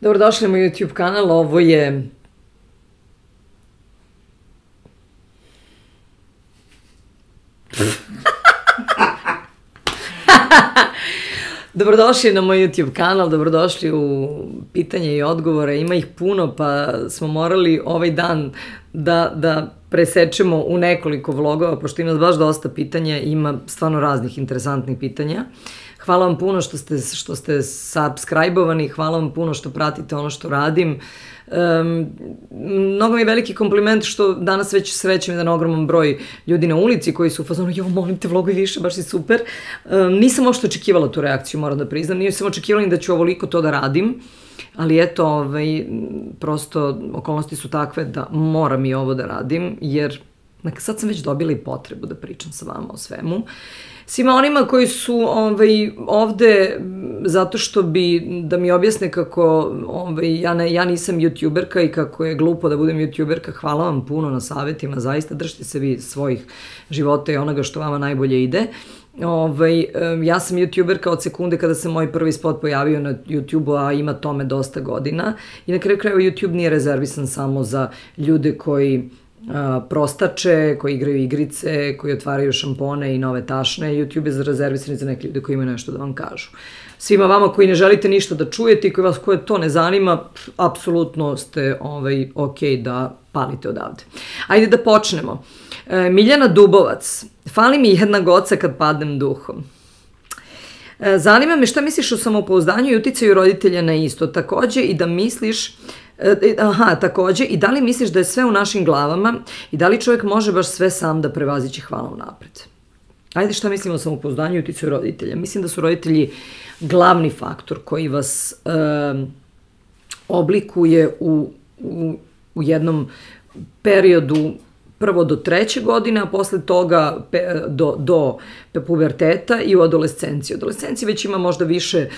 Dobrodošli na moj YouTube kanal, ovo je... Dobrodošli na moj YouTube kanal, dobrodošli u pitanje i odgovore, ima ih puno pa smo morali ovaj dan da presečemo u nekoliko vlogova, pošto ima baš dosta pitanja, ima stvarno raznih interesantnih pitanja. Hvala vam puno što ste subscribe-ovani, hvala vam puno što pratite ono što radim. Mnogo mi je veliki kompliment što danas već srećem jedan ogroman broj ljudi na ulici koji su u fazonu, jo, molim te, vloguj više, baš si super. Nisam ošto očekivala tu reakciju, moram da priznam, nisam očekivala ni da ću ovoliko to da radim, ali eto, prosto okolnosti su takve da moram i ovo da radim, jer sad sam već dobila i potrebu da pričam sa vama o svemu. Svima onima koji su ovde zato što bi da mi objasne kako ja nisam youtuberka i kako je glupo da budem youtuberka, hvala vam puno na savjetima, zaista držite se vi svojih života i onoga što vama najbolje ide. Ja sam youtuberka od sekunde kada se moj prvi spot pojavio na YouTube-u, a ima tome dosta godina i na kraju krajeva YouTube nije rezervisan samo za ljude koji prostače, koji igraju igrice, koji otvaraju šampone i nove tašne. YouTube je rezervisan za neke ljude koji imaju nešto da vam kažu. Svima vama koji ne želite ništa da čujete i koji vas koje to ne zanima, apsolutno ste ok da palite odavde. Ajde da počnemo. Miljana Dubovac. Fali mi jedna goca kad padnem duhom. Zanima me šta misliš o samopouzdanju i uticaju roditelja na isto. Takođe i da misliš takođe, i da li misliš da je sve u našim glavama i da li čovjek može baš sve sam da prevaziće, hvala unapred. Ajde, šta mislimo o samopouzdanju i uticaju roditelja? Mislim da su roditelji glavni faktor koji vas oblikuje u jednom periodu prvo do 3. godine, a posle toga do puberteta i u adolescenciji. U adolescenciji već ima možda više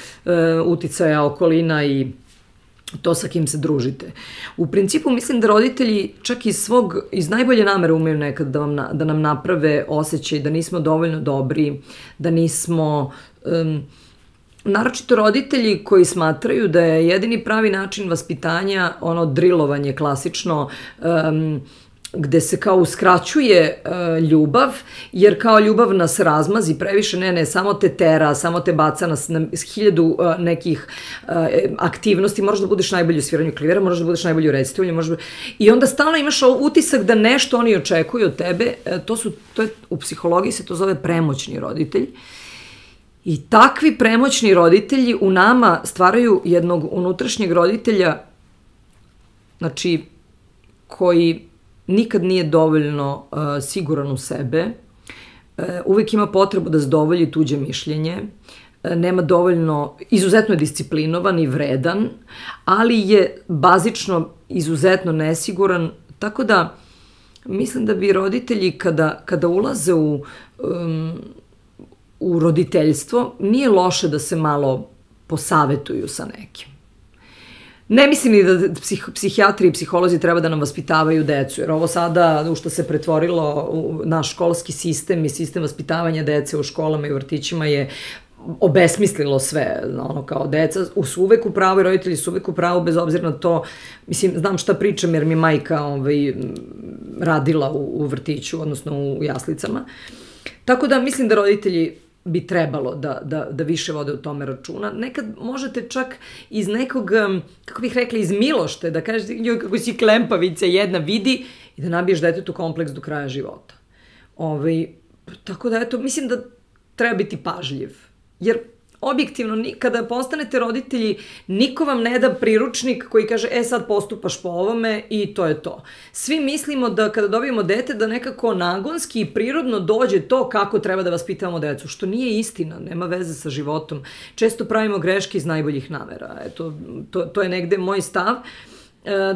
uticaja okolina i to sa kim se družite. U principu mislim da roditelji čak iz najbolje namere umeju nekad da nam naprave osjećaj da nismo dovoljno dobri, da nismo... Naročito roditelji koji smatraju da je jedini pravi način vaspitanja ono drilovanje klasično, gde se kao uskraćuje ljubav, jer kao ljubav nas razmazi previše, ne, samo te tera, samo te baca na 1000 nekih aktivnosti, možeš da budeš najbolji u sviranju klivera, možeš da budeš najbolji u recitovanju, i onda stalno imaš utisak da nešto oni očekuju od tebe, u psihologiji se to zove premoćni roditelj. I takvi premoćni roditelji u nama stvaraju jednog unutrašnjeg roditelja, znači, koji nikad nije dovoljno siguran u sebe, uvek ima potrebu da zadovolji tuđe mišljenje, nema dovoljno, izuzetno je disciplinovan i vredan, ali je bazično izuzetno nesiguran, tako da mislim da bi roditelji kada ulaze u roditeljstvo, nije loše da se malo posavetuju sa nekim. Ne mislim ni da psihijatri i psiholozi treba da nam vaspitavaju decu, jer ovo sada u što se pretvorilo naš školski sistem i sistem vaspitavanja dece u školama i vrtićima je obesmislilo sve, ono kao deca su uvek u pravu i roditelji su uvek u pravu bez obzira na to, mislim, znam šta pričam jer mi majka radila u vrtiću, odnosno u jaslicama, tako da mislim da roditelji bi trebalo da više vode u tome računa. Nekad možete čak iz nekog, kako bih rekla, iz milošte, da kažete, joj, kako si klempavica jedna, vidi, i da nabiješ detetu kompleks do kraja života. Tako da, eto, mislim da treba biti pažljiv. Jer, objektivno, kada postanete roditelji, niko vam ne da priručnik koji kaže, sad postupaš po ovome i to je to. Svi mislimo da kada dobijemo dete, da nekako nagonski i prirodno dođe to kako treba da vaspitavamo decu, što nije istina, nema veze sa životom. Često pravimo greške iz najboljih namera. Eto, to je negde moj stav.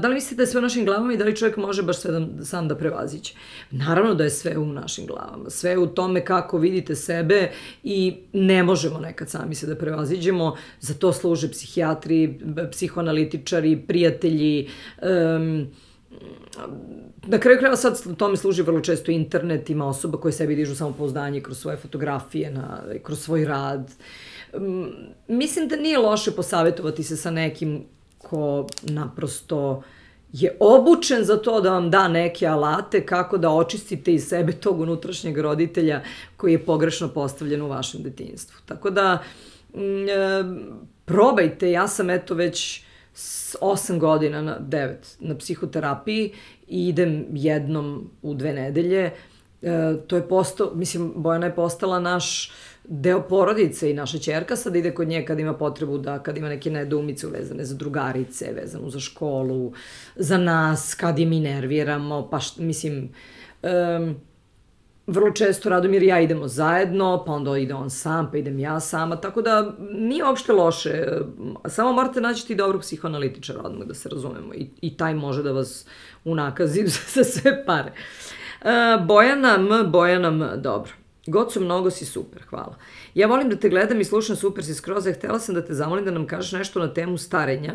Da li mislite da je sve u našim glavama i da li čovjek može baš sve sam da prevaziće? Naravno da je sve u našim glavama. Sve u tome kako vidite sebe i ne možemo nekad sami se da prevaziđemo. Za to služe psihijatri, psihoanalitičari, prijatelji. Na kraju krajeva sad tome služi vrlo često internet, ima osoba koje sebi dižu samopouzdanje kroz svoje fotografije, kroz svoj rad. Mislim da nije loše posavetovati se sa nekim ko naprosto je obučen za to da vam da neke alate kako da očistite iz sebe tog unutrašnjeg roditelja koji je pogrešno postavljen u vašem detinjstvu. Tako da, probajte, ja sam eto već 8 godina, 9 na psihoterapiji i idem jednom u 2 nedelje. To je postao, mislim, Bojana je postala naš deo porodice i naša ćerka sad ide kod nje kad ima potrebu da, kad ima neke nedoumice vezane za drugarice, vezano za školu, za nas, kad je mi nerviramo, pa mislim, vrlo često Radomir i ja idemo zajedno, pa onda ide on sam, pa idem ja sama, tako da nije uopšte loše, samo morate naći dobrog psihoanalitičara odmah da se razumemo i taj može da vas unakazi za sve pare. Bojana M, dobro. Goco, mnogo si super, hvala. Ja volim da te gledam i slušam, super si skroz, htela sam da te zamolim da nam kažeš nešto na temu starenja,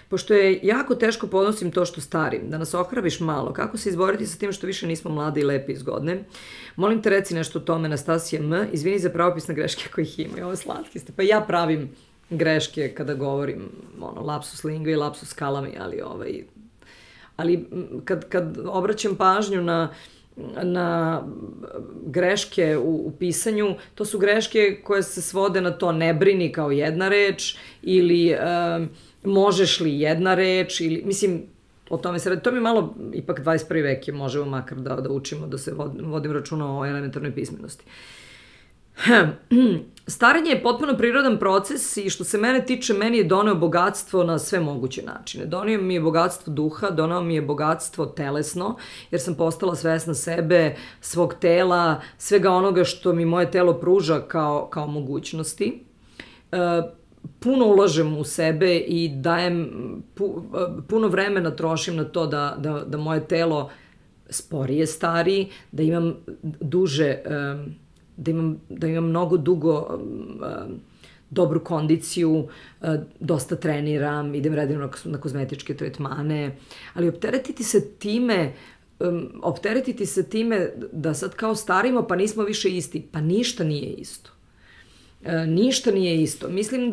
pošto je jako teško podnosim to što starim, da nas ohrabiš malo, kako se izboriti sa tim što više nismo mlade i lepe i zgodne. Molim te reci nešto o tome, Anastasija M, izvini za pravopisne greške kojih ima, i ovo slatki ste, pa ja pravim greške kada govorim, lapsus lingua i lapsus calami, ali kad obraćam pažnju na greške u pisanju, to su greške koje se svode na to ne brini kao jedna reč ili možeš li jedna reč, ili, mislim, o tome se radi. To mi malo, ipak 21. vek je, možemo makar da učimo, da se vodim računa o elementarnoj pismenosti. Starenje je potpuno prirodan proces i što se mene tiče, meni je doneo bogatstvo na sve moguće načine. Doneo mi je bogatstvo duha, doneo mi je bogatstvo telesno, jer sam postala svesna sebe, svog tela, svega onoga što mi moje telo pruža kao mogućnosti. Puno ulažem u sebe i dajem, puno vremena trošim na to da moje telo sporije stari, da imam duže... da imam mnogo dugo dobru kondiciju, dosta treniram, idem redovno na kozmetičke tretmane, ali opteretiti se time da sad kao starimo pa nismo više isti, pa ništa nije isto. Ništa nije isto. Mislim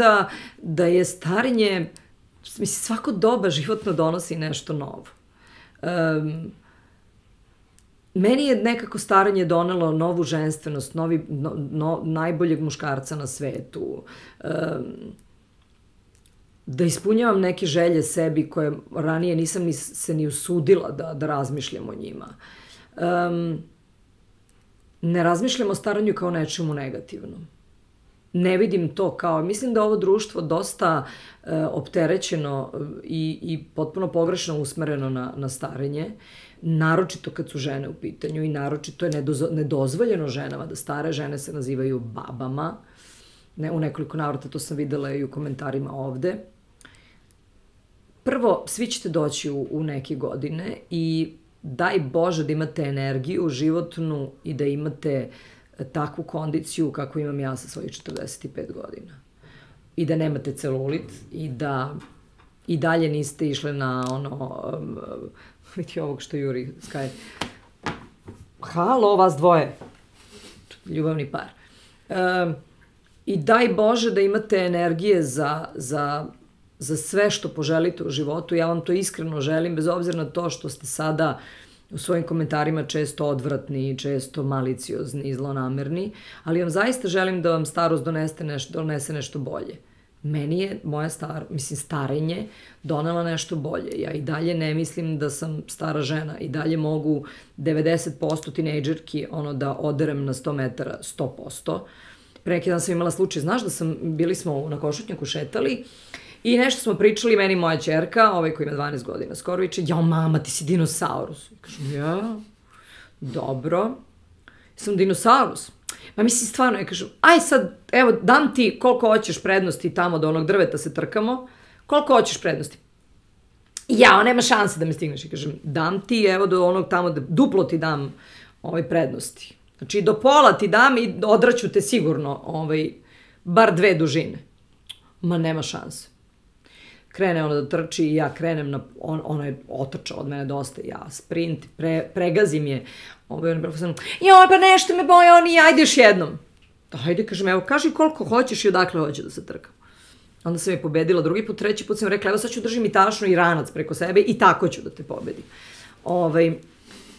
da je starenje, mislim, svako doba životno donosi nešto novo. Meni je nekako staranje donelo novu ženstvenost, najboljeg muškarca na svetu, da ispunjavam neke želje sebi koje ranije nisam se ni usudila da razmišljam o njima. Ne razmišljam o staranju kao nečemu negativnom. Ne vidim to kao, mislim da ovo društvo dosta opterećeno i potpuno pogrešno usmereno na starenje, naročito kad su žene u pitanju i naročito je nedozvoljeno ženama da stare, žene se nazivaju babama, u nekoliko navrata to sam videla i u komentarima ovde. Prvo, svi ćete doći u neke godine i daj Bože da imate energiju životnu i da imate takvu kondiciju kako imam ja sa svojih 45 godina. I da nemate celulit i da i dalje niste išle na vidi ovog što juri Sky. Halo, vas dvoje. Ljubavni par. I daj Bože da imate energije za sve što poželite u životu. Ja vam to iskreno želim, bez obzira na to što ste sada u svojim komentarima često odvratni, često maliciozni i zlonamerni, ali vam zaista želim da vam starost donese nešto bolje. Meni je moja starenje donela nešto bolje. Ja i dalje ne mislim da sam stara žena. I dalje mogu 90% tinejdžerki da oderem na 100 metara 100%. Pre neki dan sam imala slučaj, znaš da bili smo na Košutnjaku šetali i nešto smo pričali, meni moja ćerka, koji ima 12 godina, skoro viče, jao mama, ti si dinosaurus. I kažem, ja, dobro, sam dinosaurus. Ma mislim, stvarno, ja kažem, aj sad, evo, dam ti koliko hoćeš prednosti tamo do onog drveta se trkamo, koliko hoćeš prednosti. Jao, nema šanse da me stigneš. I kažem, dam ti, evo, do onog tamo, duplo ti dam prednosti. Znači, do pola ti dam i odraću te sigurno, bar 2 dužine. Ma nema šanse. Krene ona da trči i ja krenem ona je otrčala od mene dosta, ja sprint, pregazim je, on je profesor, joj, pa nešto me boje, ajde još jednom. Ajde, kažem, evo, kaži koliko hoćeš i odakle hoće da se trkam. Onda sam je pobedila drugi put, treći put sam rekla, evo sad ću držim i tašnu i ranac preko sebe i tako ću da te pobedim.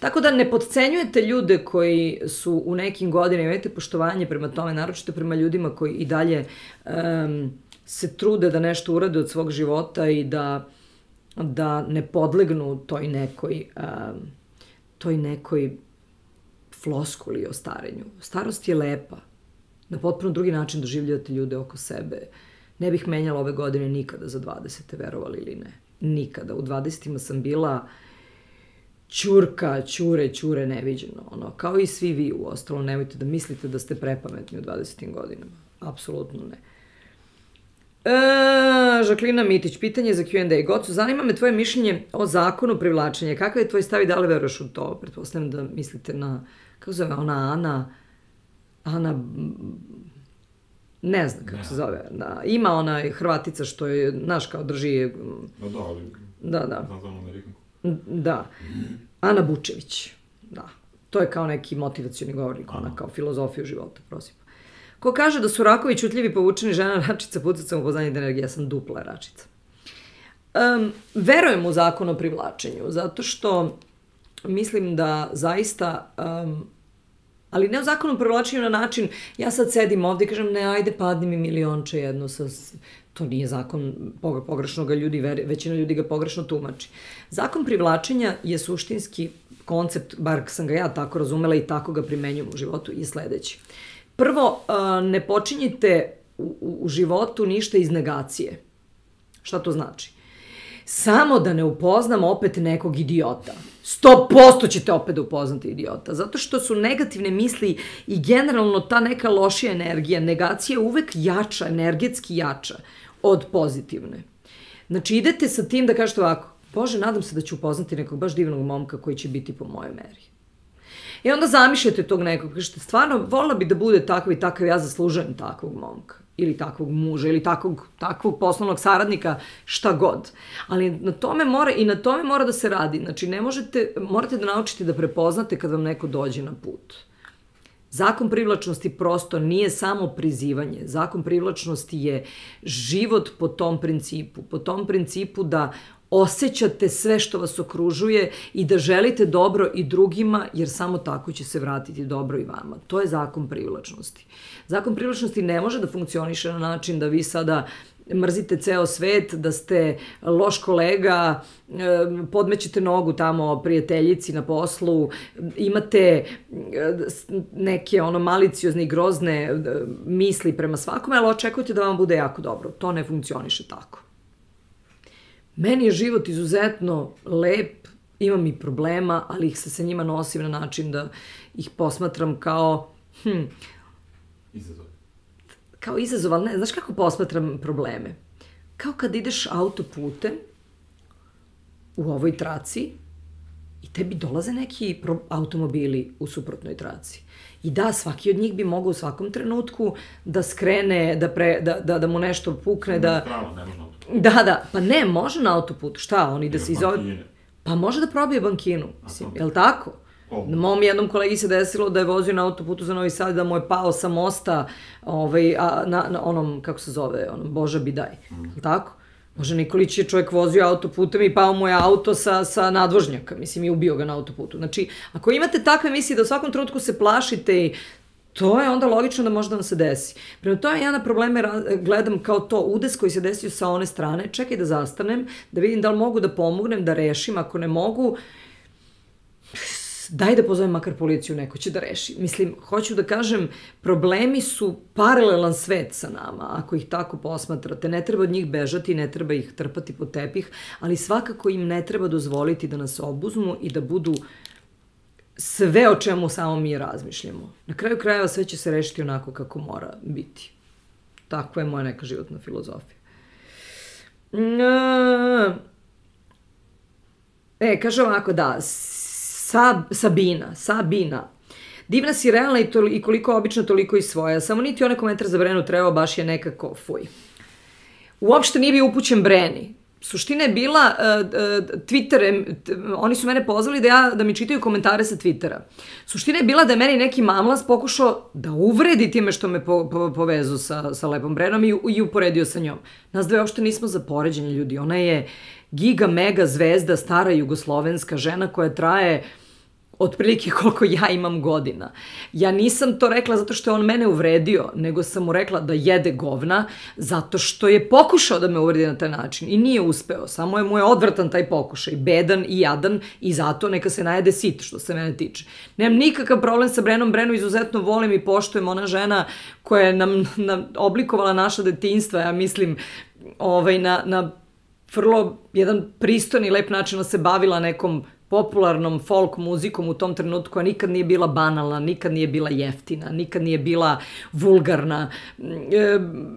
Tako da ne podcenjujete ljude koji su u nekim godinama, imajte poštovanje prema tome, naročito prema ljudima koji i dalje se trude da nešto urade od svog života i da ne podlegnu toj nekoj floskuli o starenju. Starost je lepa. Na potpuno drugi način doživljavate ljude oko sebe. Ne bih menjala ove godine nikada za 20. verovali ili ne. Nikada. U 20. sam bila ćurka, ćure neviđeno. Kao i svi vi u ostalo. Nemojte da mislite da ste prepametni u 20. godinama. Apsolutno ne. Žaklina Mitić, pitanje za Q&A. Gocu, zanima me tvoje mišljenje o zakonu privlačenja. Kakav je tvoj stav i da li veruješ u to? Pretpostavljam da mislite na, kako zove ona Ana, ne znam kako se zove. Ima ona Hrvatica što je, znaš, kao drži... Da. Da. Ana Bučević. Da. To je kao neki motivacioni govornik, ona kao filozofiju života, prosim. Ko kaže da su rakovi ćutljivi, povučeni, žena račica, pucacom u poznanje energije, ja sam dupla račica. Verujem u zakon o privlačenju, zato što mislim da zaista, ali ne u zakonu o privlačenju na način, ja sad sedim ovdje i kažem, ne, ajde, padni mi milionče jedno, to nije zakon, pogrešno ga ljudi, većina ljudi ga pogrešno tumači. Zakon privlačenja je suštinski koncept, bar sam ga ja tako razumela i tako ga primenjujem u životu, je sledeći. Prvo, ne počinjite u životu ništa iz negacije. Šta to znači? Samo da ne upoznam opet nekog idiota. 100% ćete opet da upoznate idiota. Zato što su negativne misli i generalno ta neka lošija energija, negacija je uvek jača, energetski jača od pozitivne. Znači, idete sa tim da kažete ovako, Bože, nadam se da ću upoznati nekog baš divnog momka koji će biti po mojoj meri. I onda zamišljate tog nekog, kažete, stvarno, volila bi da bude takav i takav, ja zaslužujem takvog momka, ili takvog muža, ili takvog poslovnog saradnika, šta god. Ali na tome mora da se radi. Znači, morate da naučite da prepoznate kad vam neko dođe na put. Zakon privlačnosti prosto nije samo prizivanje. Zakon privlačnosti je život po tom principu da osjećate sve što vas okružuje i da želite dobro i drugima, jer samo tako će se vratiti dobro i vama. To je zakon privlačnosti. Zakon privlačnosti ne može da funkcioniše na način da vi sada mrzite ceo svet, da ste loš kolega, podmećete nogu tamo prijateljici na poslu, imate neke maliciozne i grozne misli prema svakome, ali očekujete da vam bude jako dobro. To ne funkcioniše tako. Meni je život izuzetno lep, imam i problema, ali ih se sa njima nosim na način da ih posmatram kao... Izazov. Kao izazov, ali ne, znaš kako posmatram probleme? Kao kad ideš autoputem u ovoj traci i tebi dolaze neki automobili u suprotnoj traci. I da, svaki od njih bi mogao u svakom trenutku da skrene, da mu nešto pukne, da... Ne može na autoputu. Da, pa ne, može na autoputu. Šta, on ide se izove... Bankine. Pa može da probije bankinu, mislim, je li tako? Na mom jednom kolegi se desilo da je vozio na autoputu za Novi Sad, da mu je pao sa mosta na onom, kako se zove, Boža Bidaj, je li tako? Bože Nikolić je čovjek vozio autoputem i pao mu je auto sa nadvožnjaka, mislim, i ubio ga na autoputu. Znači, ako imate takve misli da u svakom trenutku se plašite i to je onda logično da može da vam se desi. Prema tome ja na probleme gledam kao to udes koji se desio sa one strane, čekaj da zastanem, da vidim da li mogu da pomognem, da rešim, ako ne mogu, daj da pozovem makar policiju, neko će da reši. Mislim, hoću da kažem, problemi su paralelan svet sa nama, ako ih tako posmatrate. Ne treba od njih bežati, ne treba ih trpati pod tepih, ali svakako im ne treba dozvoliti da nas obuzmu i da budu sve o čemu samo mi razmišljamo. Na kraju krajeva sve će se rešiti onako kako mora biti. Tako je moja neka životna filozofija. Kaže ovako, da, Sabina. Divna si, realna i koliko obična, toliko i svoja. Samo niti onaj komentar za Brenu trebao, baš je nekako fuj. Uopšte nije bio upućen Breni. suština je bila, Twitter, oni su mene pozvali da mi čitaju komentare sa Twittera. Suština je bila da je meni neki mamlas pokušao da uvredi time što me povezu sa Lepom Brenom i uporedio sa njom. Nas dve uopšte nismo za poređenje, ljudi. Ona je giga mega zvezda, stara jugoslovenska žena koja traje otprilike koliko ja imam godina. Ja nisam to rekla zato što je on mene uvredio, nego sam mu rekla da jede govna zato što je pokušao da me uvredi na taj način i nije uspeo. Samo je mu je odvratan taj pokušaj, bedan i jadan i zato neka se najede sit, što se mene tiče. Nemam nikakav problem sa Brenom, Brenu izuzetno volim i poštujem, ona žena koja je nam oblikovala naša detinjstva, ja mislim, na vrlo jedan pristojni, lep način da se bavila nekom popularnom folk muzikom u tom trenutku, a nikad nije bila banalna, nikad nije bila jeftina, nikad nije bila vulgarna.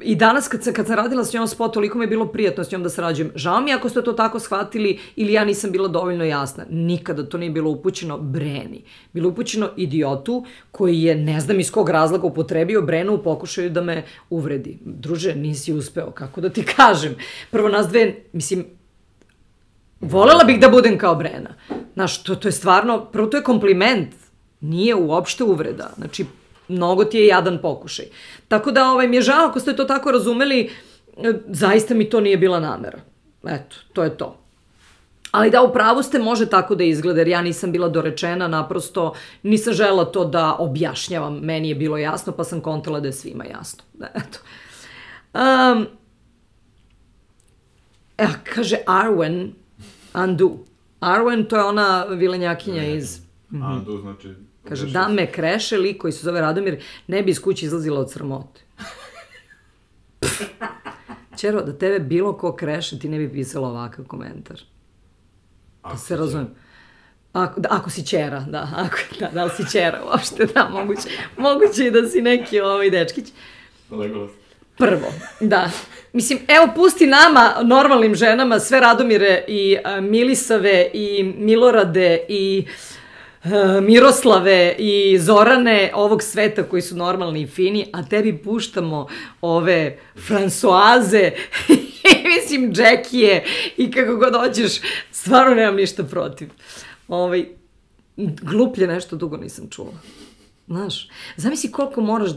I danas kad sam radila s njom spot, toliko mi je bilo prijatno s njom da sarađujem. Žao mi ako ste to tako shvatili ili ja nisam bila dovoljno jasna. Nikada to nije bilo upućeno Breni. Bilo upućeno idiotu koji je, ne znam iz kog razloga, upotrebio Brenu u pokušaju da me uvredi. Druže, nisi uspeo, kako da ti kažem. Prvo nas dve, mislim, volela bih da budem kao Brena. Znaš, to je stvarno, prvo to je kompliment, nije uopšte uvreda. Znači, mnogo ti je jadan pokušaj. Tako da mi je žao ako ste to tako razumeli, zaista mi to nije bila namera. Eto, to je to. Ali da, u pravu ste, može tako da izgleda, jer ja nisam bila dorečena, naprosto nisam žela to da objašnjavam. Meni je bilo jasno, pa sam kontala da je svima jasno. Eto. Kaže Arwen, Andu. Arwen, to je ona vilenjakinja iz... Andu, znači... Kaže, da me kreše lik koji se zove Radomir, ne bi iz kuće izlazila od sramote. Čero, da tebe bilo ko kreše, ti ne bi pisala ovakav komentar. Da se razumem. Ako si ćera, da. Da li si ćera uopšte, da, moguće i da si neki dečkić. Legolas. Prvo, da. Mislim, evo, pusti nama, normalnim ženama, sve Radomire i Milisave i Milorade i Miroslave i Zorane ovog sveta koji su normalni i fini, a tebi puštamo ove Fransoaze i mislim Džekije i kako god hoćeš, stvarno nemam ništa protiv. Gluplje nešto dugo nisam čula. Znaš, zamisli koliko moraš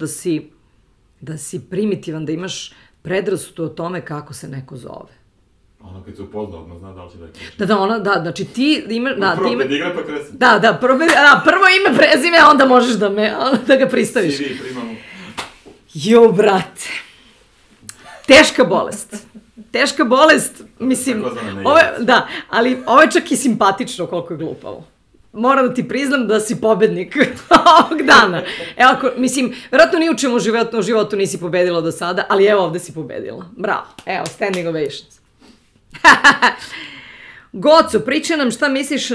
da si primitivan, da imaš predrasudu o tome kako se neko zove. Ono kad se upozna, odmah zna da li će da je kreši. Da, znači ti imaš... Prvo pedigra pa kresi. Da, prvo ime, prezime, a onda možeš da ga pristaviš. CV, primamo. Jo, brate. Teška bolest, mislim... Da, ali ovo je čak i simpatično koliko je glupavo. Moram da ti priznam da si pobednik ovog dana. Evo, mislim, vjerojatno ni u čemu u životu nisi pobedila do sada, ali evo ovde si pobedila. Bravo, evo, standing ovations. Goco, pričaj nam šta misliš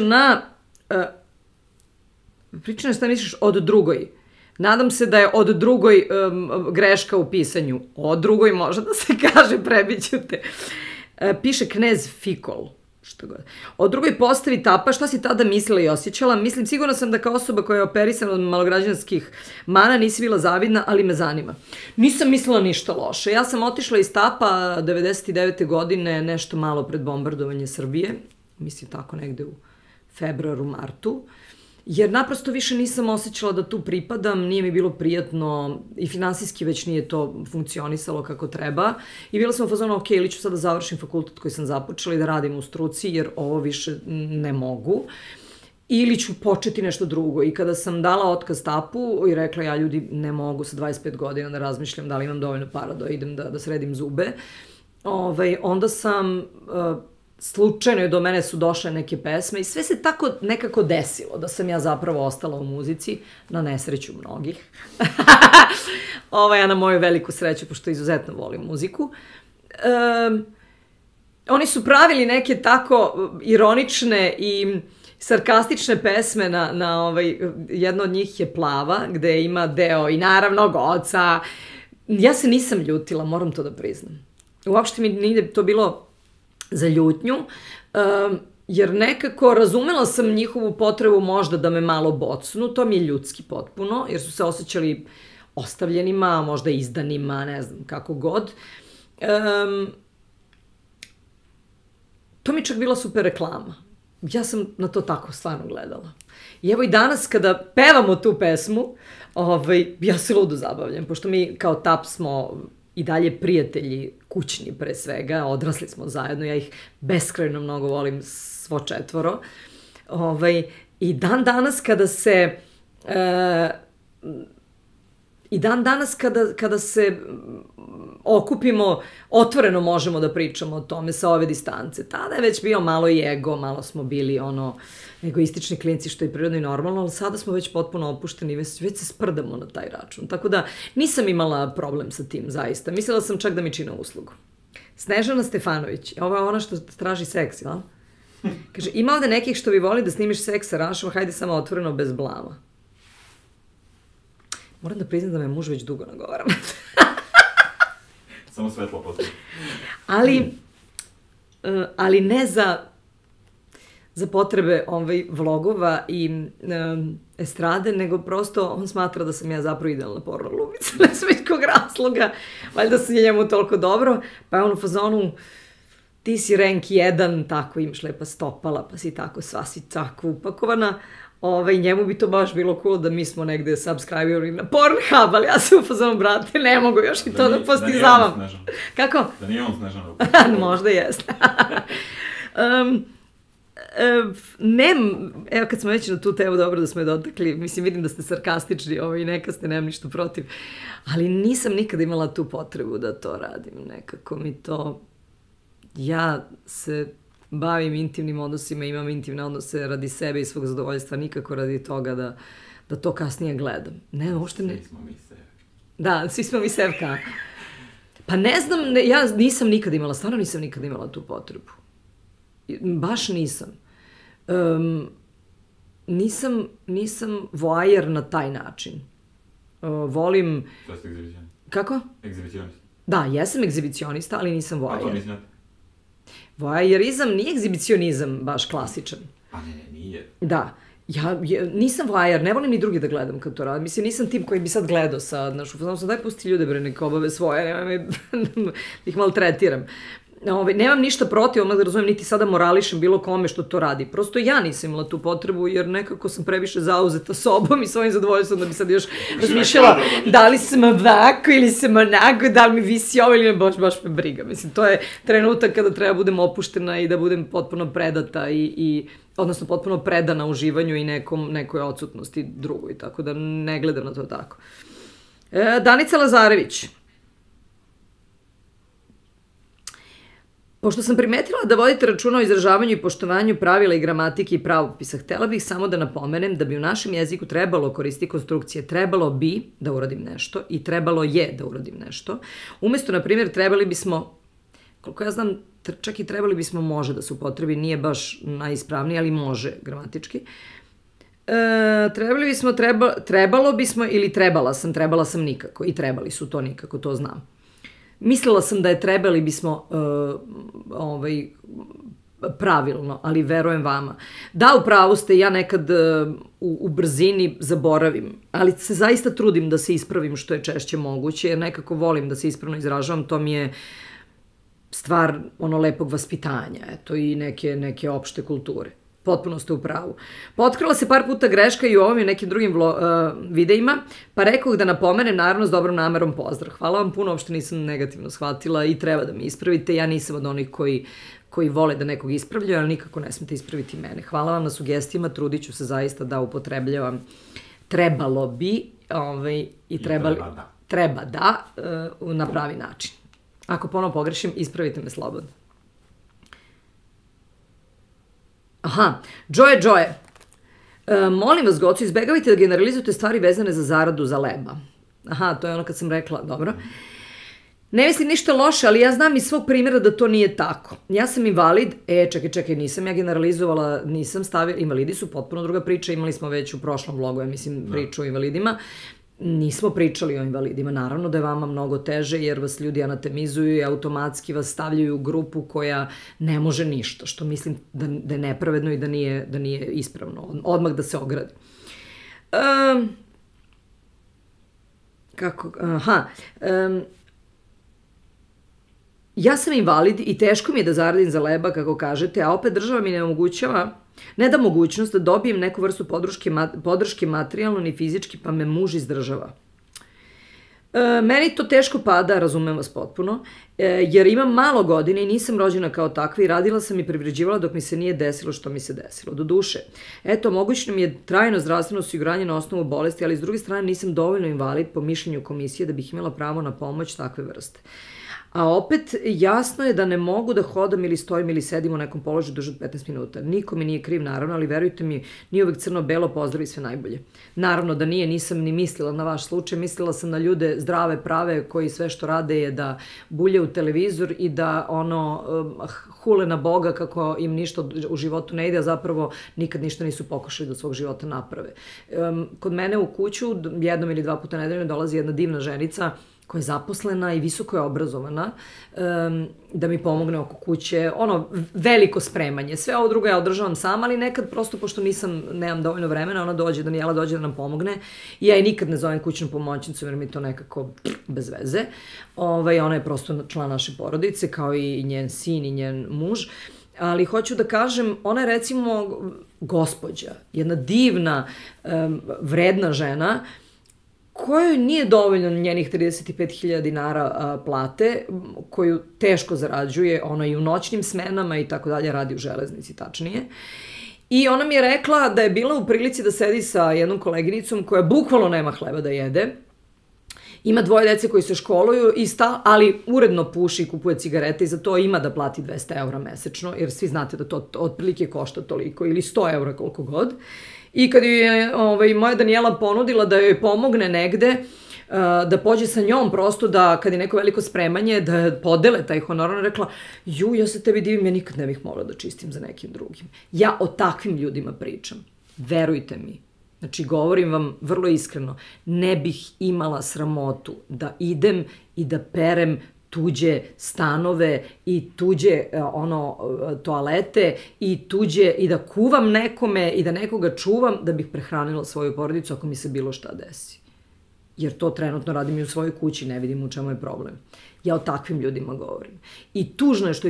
od drugoj. Nadam se da je od drugoj greška u pisanju. Od drugoj može da se kaže, prebiću te. Piše knez Fikol. Od drugoj postavi Tapa, šta si tada mislila i osjećala? Mislim, sigurno sam da kao osoba koja je operisana od malograđanskih mana nisi bila zavidna, ali me zanima. Nisam mislila ništa loše. Ja sam otišla iz Tapa 99. godine, nešto malo pred bombardovanje Srbije, mislim tako negde u februaru, martu, jer naprosto više nisam osjećala da tu pripadam, nije mi bilo prijatno i finansijski već nije to funkcionisalo kako treba i bila sam u fazonu, ok, ili ću sad da završim fakultet koji sam započela i da radim u struci jer ovo više ne mogu ili ću početi nešto drugo i kada sam dala otkaz Tapu i rekla ja ljudi ne mogu sa 25 godina da razmišljam da li imam dovoljno para da idem da sredim zube, onda sam... Slučajno do mene su došle neke pesme i sve se tako nekako desilo da sam ja zapravo ostala u muzici, na nesreću mnogih. Ja na moju veliku sreću, pošto izuzetno volim muziku. Oni su pravili neke tako ironične i sarkastične pesme jedna od njih je Plava, gde ima deo i naravno Goca. Ja se nisam ljutila, moram to da priznam. Uopšte mi nije to bilo za ljutnju, jer nekako razumela sam njihovu potrebu možda da me malo bocnu, to mi je ljudski potpuno, jer su se osjećali ostavljenima, možda izdanima, ne znam, kako god. to mi čak bila super reklama. Ja sam na to tako stvarno gledala. I evo i danas kada pevamo tu pesmu, ja se ludo zabavljam, pošto mi kao TAP smo i dalje prijatelji kućni pre svega, odrasli smo zajedno, ja ih beskrajno mnogo volim svo četvoro. I dan danas kada se kada se okupimo, otvoreno možemo da pričamo o tome sa ove distance. Tada je već bio malo i ego, malo smo bili egoistični klinci, što je prirodno i normalno, ali sada smo već potpuno opušteni, već se sprdamo na taj račun. Tako da nisam imala problem sa tim, zaista. Mislila sam čak da mi čine uslugu. Snežana Stefanović, ovo je ona što traži seks, jel? Kaže, ima ovde nekih što bi voli da snimiš seks sa Rašom, hajde samo otvoreno, bez blama. Moram da priznam da me muž već dugo nagovaram. Samo svetlo postoji. Ali ne za potrebe vlogova i estrade, nego prosto on smatra da sam ja zapravo idealna porno glumica. Ne znam iz kog razloga. Valjda se njemu toliko dobro. Pa je on u fazonu, ti si rank 1, tako imaš lepa stopala, pa si tako, sva si tako upakovana. Njemu bi to baš bilo cool da mi smo negde subscriberi na Pornhub, ali ja se u fazonu, brate, ne mogu još i to da postizavam. Da nije on Snežan. Kako? Da nije on Snežan. Možda jeste. Evo kad smo već na tu temu, dobro da smo je dotakli, mislim, vidim da ste sarkastični i neka ste, nemam ništa protiv, ali nisam nikada imala tu potrebu da to radim, nekako mi to, ja se bavim intimnim odnosima, imam intimne odnose radi sebe i svog zadovoljstva, nikako radi toga da to kasnije gledam. Ne, uopšte ne. Svi smo mi sebi. Da, svi smo mi sevka. Pa ne znam, ja nisam nikad imala, stvarno nisam nikad imala tu potrebu. Baš nisam. Nisam voajer na taj način. Volim... To ste egzibicionista. Kako? Egzibicionista. Da, jesam egzibicionista, ali nisam voajer. A to nisam. Voajerizam nije egzibicionizam baš klasičan. Pa ne, nije. Da. Ja nisam voajer, ne volim ni drugi da gledam kad to radim. Mislim, nisam tim koji bi sad gledao sad, znaš, ufazno sam, daj pusti ljude, bre, neka obave svoje, nemoj me, ih maltretiram. Nemam ništa protiv, odmah da razumijem, niti sada morališem bilo kome što to radi. Prosto ja nisam imala tu potrebu, jer nekako sam previše zauzeta sobom i svojim zadovoljstvom da bi sad još razmišljala da li sam ovako ili sam onako, da li mi visi ovo ili ne, baš me briga. Mislim, to je trenutak kada treba budem opuštena i da budem potpuno predata odnosno potpuno predana uživanju i nekoj odsutnosti drugoj, tako da ne gledam na to tako. Danica Lazarević. Pošto sam primetila da vodite računa o izražavanju i poštovanju pravila i gramatike i pravopisa, htela bih samo da napomenem da bi u našem jeziku trebalo koristiti konstrukcije trebalo bi da uradim nešto i trebalo je da uradim nešto. Umesto, na primjer, trebali bismo, koliko ja znam, čak i trebali bismo može da se upotrebi, nije baš najispravniji, ali može gramatički. Trebalo bismo ili trebala sam nikako i trebali su to nikako, to znam. Mislila sam da je trebali bismo pravilno, ali verujem vama. Da, u pravu ste, ja nekad u brzini zaboravim, ali se zaista trudim da se ispravim što je češće moguće, jer nekako volim da se ispravno izražavam, to mi je stvar lepog vaspitanja, eto, i neke opšte kulture. Potpuno ste u pravu. Potkrila se par puta greška i u ovom i nekim drugim videima, pa rekao da napomenem, naravno s dobrom namerom pozdrav. Hvala vam puno, uopšte nisam negativno shvatila i treba da me ispravite. Ja nisam od onih koji vole da nekog ispravljaju, ali nikako ne smete ispraviti mene. Hvala vam na sugestijama, trudit ću se zaista da upotrebljavam trebalo bi i treba da na pravi način. Ako ponovo pogrešim, ispravite me slobodno. Aha, Džoje. Molim vas, Gocu, izbegavajte da generalizujete stvari vezane za zaradu za leba. Aha, to je ono kad sam rekla, dobro. Ne mislim ništa loše, ali ja znam iz svog primjera da to nije tako. Ja sam invalid, čekaj, nisam ja generalizovala, nisam stavila, invalidi su potpuno druga priča, imali smo već u prošlom vlogu, ja mislim, priču o invalidima. Nismo pričali o invalidima, naravno da je vama mnogo teže jer vas ljudi anatemizuju i automatski vas stavljaju u grupu koja ne može ništa, što mislim da je nepravedno i da nije ispravno, odmah da se ogradi. ja sam invalid i teško mi je da zaradim za leba, kako kažete, a opet država mi ne omogućava, ne da mogućnost da dobijem neku vrstu podrške materijalno ni fizički, pa me muž izdržava. Meni to teško pada, razumem vas potpuno, jer imam malo godina i nisam rođena kao takva i radila sam i privređivala dok mi se nije desilo što mi se desilo. Do duše, eto, mogućno mi je trajno zdravstveno osiguranje na osnovu bolesti, ali s druge strane nisam dovoljno invalid po mišljenju komisije da bih imala pravo na pomoć takve vrste. A opet, jasno je da ne mogu da hodam ili stojim ili sedim u nekom položaju duže od 15 minuta. Niko mi nije kriv, naravno, ali verujte mi, nije uvek crno-belo, pozdrav i sve najbolje. Naravno da nije, nisam ni mislila na vaš slučaj, mislila sam na ljude zdrave, prave, koji sve što rade je da bulje u televizor i da hule na Boga kako im ništa u životu ne ide, a zapravo nikad ništa nisu pokušali da svog života naprave. Kod mene u kuću jednom ili dva puta nedeljno dolazi jedna divna ženica koja je zaposlena i visoko je obrazovana, da mi pomogne oko kuće, veliko spremanje. Sve ovo drugo ja održavam sama, ali nekad prosto, pošto nemam dovoljno vremena, Danijela dođe da nam pomogne i ja je nikad ne zovem kućnu pomoćnicu, jer mi to nekako bez veze. Ona je prosto član naše porodice, kao i njen sin i njen muž. Ali hoću da kažem, ona je recimo gospođa, jedna divna, vredna žena, kojoj nije dovoljno njenih 35.000 dinara plate, koju teško zarađuje, ona i u noćnim smenama i tako dalje, radi u železnici, tačnije. I ona mi je rekla da je bila u prilici da sedi sa jednom koleginicom koja bukvalno nema hleba da jede, ima 2 dece koji se školuju, ali uredno puši i kupuje cigarete i za to ima da plati 200 € mesečno, jer svi znate da to otprilike košta toliko, ili 100 € koliko god. I kad je moja Danijela ponudila da joj pomogne negde, da pođe sa njom prosto, da kad je neko veliko spremanje, da podele taj honorar, ona rekla, ja se tebi divim, ja nikad ne bih mogla da čistim za nekim drugim. Ja o takvim ljudima pričam. Verujte mi. Znači, govorim vam vrlo iskreno, ne bih imala sramotu da idem i da perem tuđe stanove i tuđe toalete i da kuvam nekome i da nekoga čuvam da bih prehranila svoju porodicu ako mi se bilo šta desi. Jer to trenutno radim i u svojoj kući, ne vidim u čemu je problem. Ja o takvim ljudima govorim. I tužno je što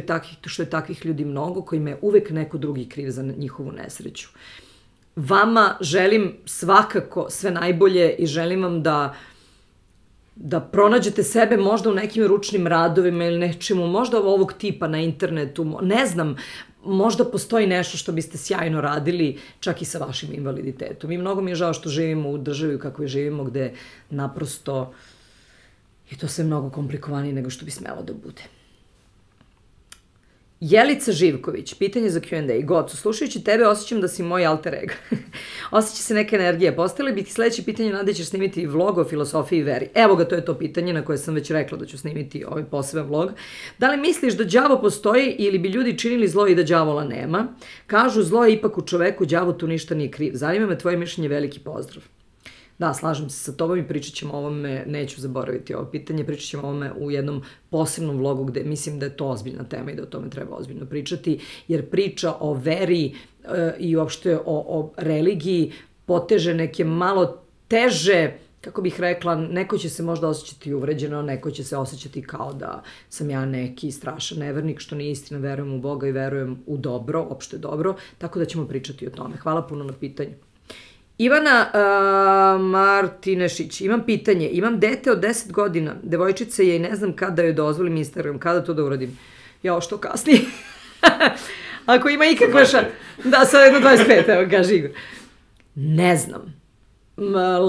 je takvih ljudi mnogo, kojima je uvek neko drugi kriv za njihovu nesreću. Vama želim svakako sve najbolje i želim vam da pronađete sebe možda u nekim ručnim radovima ili nečemu, možda ovog tipa na internetu, ne znam, možda postoji nešto što biste sjajno radili čak i sa vašim invaliditetom. I mnogo mi je žao što živimo u državi kako živimo, gde naprosto je to sve mnogo komplikovanije nego što bi smelo da bude. Jelica Živković, pitanje za Q&A. Gocu, slušajući tebe osjećam da si moj alter ego. Osjeća se neka energija. Postavili bi ti sledeće pitanje, Nada, ćeš snimiti vlog o filosofiji i veri. Evo ga, to je to pitanje na koje sam već rekla da ću snimiti ovaj poseban vlog. Da li misliš da đavo postoji ili bi ljudi činili zlo i da đavola nema? Kažu, zlo je ipak u čoveku, đavo tu ništa nije kriv. Zanima me tvoje mišljenje, veliki pozdrav. Da, slažem se sa tobom i pričat ćemo o ovome, neću zaboraviti ovo pitanje, pričat ćemo o ovome u jednom posebnom vlogu gde mislim da je to ozbiljna tema i da o tome treba ozbiljno pričati, jer priča o veri i uopšte o religiji poteže neke malo teže, kako bih rekla, neko će se možda osjećati uvređeno, neko će se osjećati kao da sam ja neki strašan nevernik, što nije istina, verujem u Boga i verujem u dobro, opšte dobro, tako da ćemo pričati o tome. Hvala puno na pitanju. Ivana Martinešić, imam pitanje, imam dete od 10 godina, devojčica je i ne znam kada joj dozvolim Instagram, kada to da uradim? Ja, što kasnije? Ako ima ikakva Da, sad jedno 25, evo kaže Igor. Ne znam.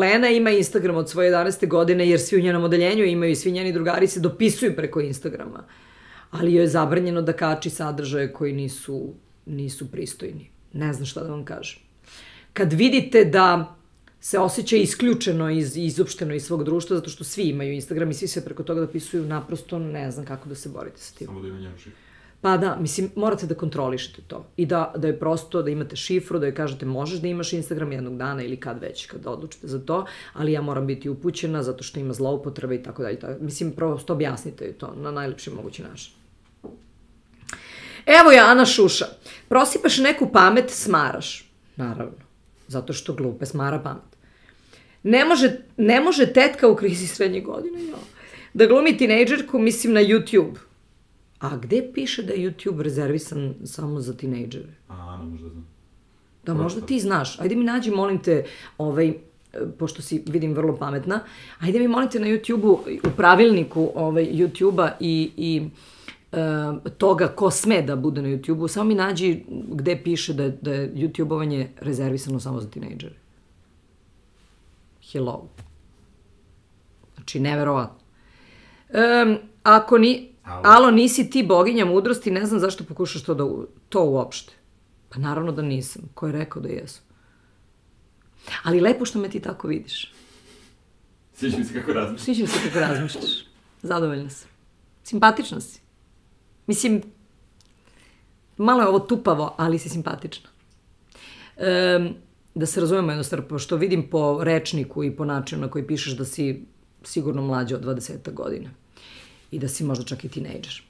Lena ima Instagram od svoje 11. godine jer svi u njenom odeljenju imaju i svi njeni drugari se dopisuju preko Instagrama. Ali joj je zabranjeno da kači sadržaje koji nisu pristojni. Ne znam šta da vam kažem. Kad vidite da se osjeća isključeno i izopšteno iz svog društva, zato što svi imaju Instagram i svi se preko toga dopisuju, naprosto ne znam kako da se borite sa tim. Samo da ima njenu šifru. Pa da, mislim, morate da kontrolišete to. I da je prosto, da imate šifru, da joj kažete možeš da imaš Instagram jednog dana ili kad već, kad odlučite za to, ali ja moram biti upućena zato što ima zloupotrebe i tako dalje. Mislim, prosto objasnite joj to na najlepši mogući način. Evo je Ana Šuša. Prosipaš neku pamet, smaraš. Naravno. Zato što glupe smara pamet. Ne može tetka u krizi srednje godine da glumi tinejdžerku, mislim na YouTube. A gde piše da je YouTube rezervisan samo za tinejdžere? Ana, možda znam. Da, možda ti znaš. Ajde mi nađi, molim te, pošto si, vidim, vrlo pametna, ajde mi, molim te, na YouTube-u, u pravilniku YouTube-a i toga ko sme da bude na YouTube-u, samo mi nađi gde piše da je YouTube-ovanje rezervisano samo za tinejdžere. Hello. Znači, neverovatno. Ako ni... Alo, nisi ti boginja mudrosti, ne znam zašto pokušaš to uopšte. Pa naravno da nisam. Ko je rekao da jesu? Ali lepo što me ti tako vidiš. Sviđa mi se kako razmišljaš. Sviđa mi se kako razmišljaš. Zadovoljna sam. Simpatična si. Mislim, malo je ovo tupavo, ali si simpatična. Da se razumemo jednostavno, pošto vidim po rečniku i po načinu na koji pišeš da si sigurno mlađa od 20 godina. I da si možda čak i tinejdžer.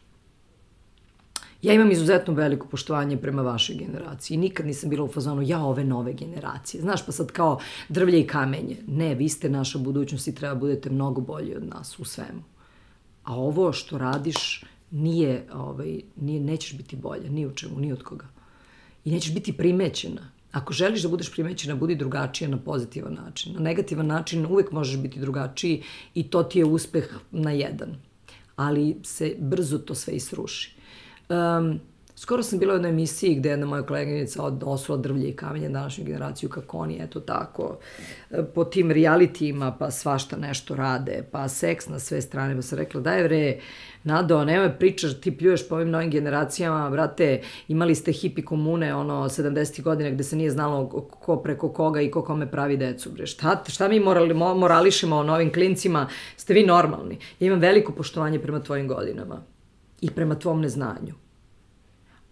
Ja imam izuzetno veliko poštovanje prema vašoj generaciji. Nikad nisam bila u fazonu, ove nove generacije. Znaš, pa sad kao drvlje i kamenje. Ne, vi ste naša budućnost i treba budete mnogo bolji od nas u svemu. A ovo što radiš nećeš biti bolja, ni u čemu, ni od koga. I nećeš biti primećena. Ako želiš da budeš primećena, budi drugačija na pozitivan način. Na negativan način uvek možeš biti drugačiji i to ti je uspeh na jedan. Ali se brzo to sve isruši. Skoro sam bila u jednoj emisiji gde jedna moja koleginica osula drvlje i kamenje današnju generaciju, kako oni, eto tako, po tim realitijima, pa svašta nešto rade, pa seks na sve strane, pa sam rekla, daj vre, Nado, nemoj pričaš, ti pljuješ po ovim novim generacijama, brate, imali ste hipi komune, 70. godina gde se nije znalo ko preko koga i ko kome pravi decu, bre. Šta mi morališemo o novim klincima, ste vi normalni. Ja imam veliko poštovanje prema tvojim godinama i prema tvom neznanju.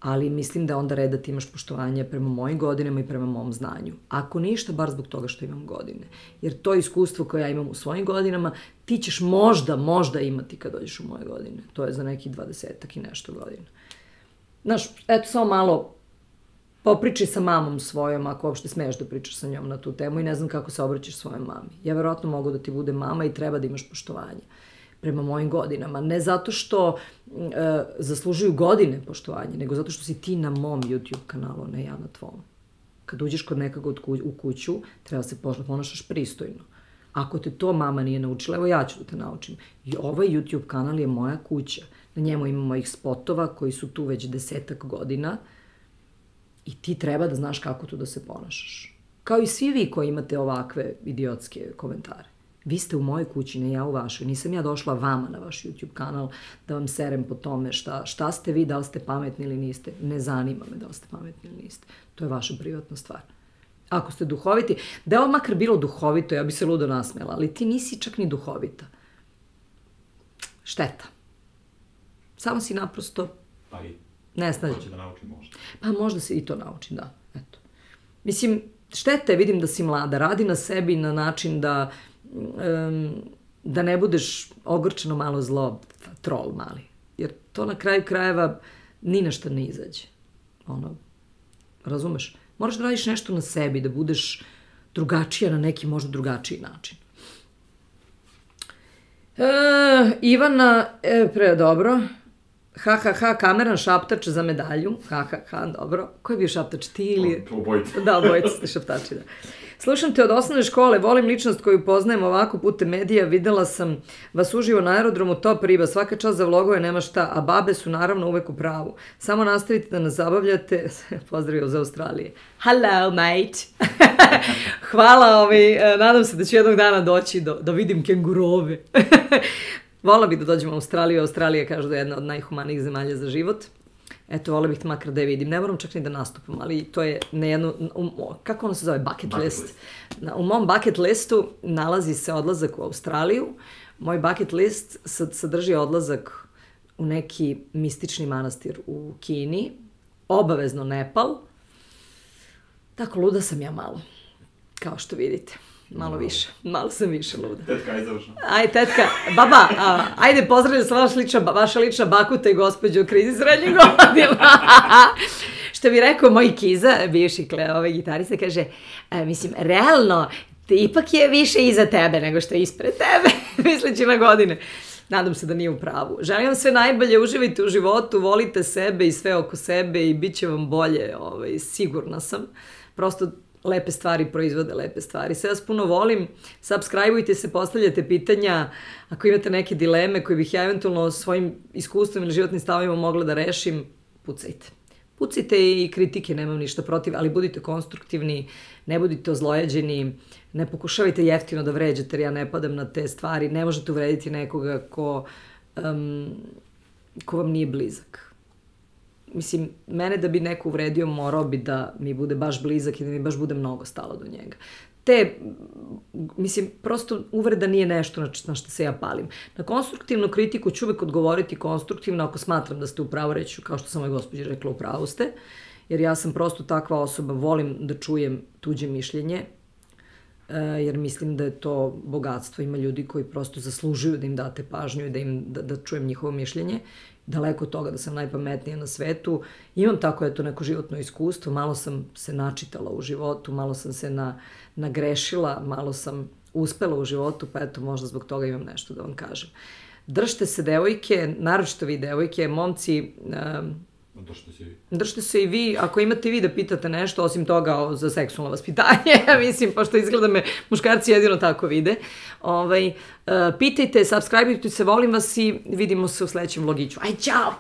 Ali mislim da onda red da ti imaš poštovanje prema mojim godinama i prema mom znanju. Ako ništa, bar zbog toga što imam godine. Jer to iskustvo koje ja imam u svojim godinama, ti ćeš možda imati kad dođeš u moje godine. To je za nekih 20-ak i nešto godina. Znaš, eto samo malo popričaj sa mamom svojom, ako uopšte smeš da pričaš sa njom na tu temu i ne znam kako se obraćaš svojoj mami. Ja verovatno mogu da ti budem mama i treba da imaš poštovanje prema mojim godinama. Ne zato što zaslužuju godine poštovanje, nego zato što si ti na mom YouTube kanalu, ne ja na tvom. Kad uđeš kod nekoga u kuću, treba se ponašaš pristojno. Ako te to mama nije naučila, evo ja ću da te naučim. I ovaj YouTube kanal je moja kuća. Na njemu ima mojih spotova koji su tu već 10-ak godina i ti treba da znaš kako tu da se ponašaš. Kao i svi vi koji imate ovakve idiotske komentare. Vi ste u mojoj kući, ne ja u vašoj. Nisam ja došla vama na vaš YouTube kanal da vam serem po tome šta ste vi, da li ste pametni ili niste. Ne zanima me da li ste pametni ili niste. To je vaša privatna stvar. Ako ste duhoviti, da je ovo makar bilo duhovito, ja bi se ludo nasmela, ali ti nisi čak ni duhovita. Šteta. Samo si naprosto nesnađen. Hoće da nauči možda. Pa možda se i to nauči, da. Eto. Mislim, šteta je, vidim da si mlada, radi na sebi na način da ne budeš ogorčeno malo zlo, trol mali. Jer to na kraju krajeva ni na šta ne izađe. Razumeš? Moraš da radiš nešto na sebi, da budeš drugačija na neki možda drugačiji način. Ivana, dobro. Kameran šaptač za medalju. Dobro. Ko je bio šaptač? Ti ili... Obojica. Da, obojica ste šaptači, da. Slušam te od osnovne škole, volim ličnost koju poznajem ovako putem medija, videla sam vas uživo na aerodromu, top riba, svaka čast za vlogove, nema šta, a babe su naravno uvek u pravu. Samo nastavite da nas zabavljate. Pozdravio za Australije. Hello, mate. Hvala, nadam se da ću jednog dana doći da vidim kengurove. Vola bih da dođem u Australiju. Australija kaže da je jedna od najhumanijih zemalja za život. Eto, vola bih te makar da je vidim. Ne moram čak ni da nastupam, ali to je na jednu, kako ono se zove, bucket list. U mom bucket listu nalazi se odlazak u Australiju. Moj bucket list sadrži odlazak u neki mistični manastir u Kini, obavezno Nepal. Tako, luda sam ja malo, kao što vidite. Malo više, malo sam više luda. Tetka je završena. Aj, tetka, baba, ajde pozdravljam se vaša lična bakuta i gospođa u krizi srednjih godina. Što bi rekao moj Kiza, bivši gitarista, kaže, mislim, realno, ipak je više iza tebe nego što je ispred tebe, misleći na godine. nadam se da nije u pravu. Želim vam sve najbolje, uživajte u životu, volite sebe i sve oko sebe i bit će vam bolje, sigurna sam. Prosto lepe stvari proizvode lepe stvari. Sve vas puno volim, subscribeujte se, postavljate pitanja, ako imate neke dileme koje bih ja eventualno svojim iskustvom ili životnim stavima mogla da rešim, pucajte. Pucajte i kritike, nemam ništa protiv, ali budite konstruktivni, ne budite ozlojeđeni, ne pokušavajte jeftino da vređate, jer ja ne padam na te stvari, ne možete uvrediti nekoga ko vam nije blizak. Mislim, mene da bi neko uvredio morao bi da mi bude baš blizak i da mi baš bude mnogo stalo do njega. Mislim, prosto uvreda nije nešto na što se ja palim. Na konstruktivnu kritiku ću uvek odgovoriti konstruktivno ako smatram da ste u pravu, reći kao što sam moj gospođi rekla, u pravu ste, jer ja sam prosto takva osoba, volim da čujem tuđe mišljenje, jer mislim da je to bogatstvo. Ima ljudi koji prosto zaslužuju da im date pažnju i da čujem njihovo mišljenje. Daleko od toga da sam najpametnija na svetu. Imam tako neko životno iskustvo, malo sam se načitala u životu, malo sam se nagrešila, malo sam uspela u životu, pa eto, možda zbog toga imam nešto da vam kažem. Držite se, devojke, naročito vi devojke, momci, držite se i vi, ako imate i vi da pitate nešto, osim toga za seksualno vaspitanje, mislim, pošto izgleda me muškarci jedino tako vide. Pitajte, subscribeujte se, volim vas i vidimo se u sledećem vlogiću. Aj, ćao!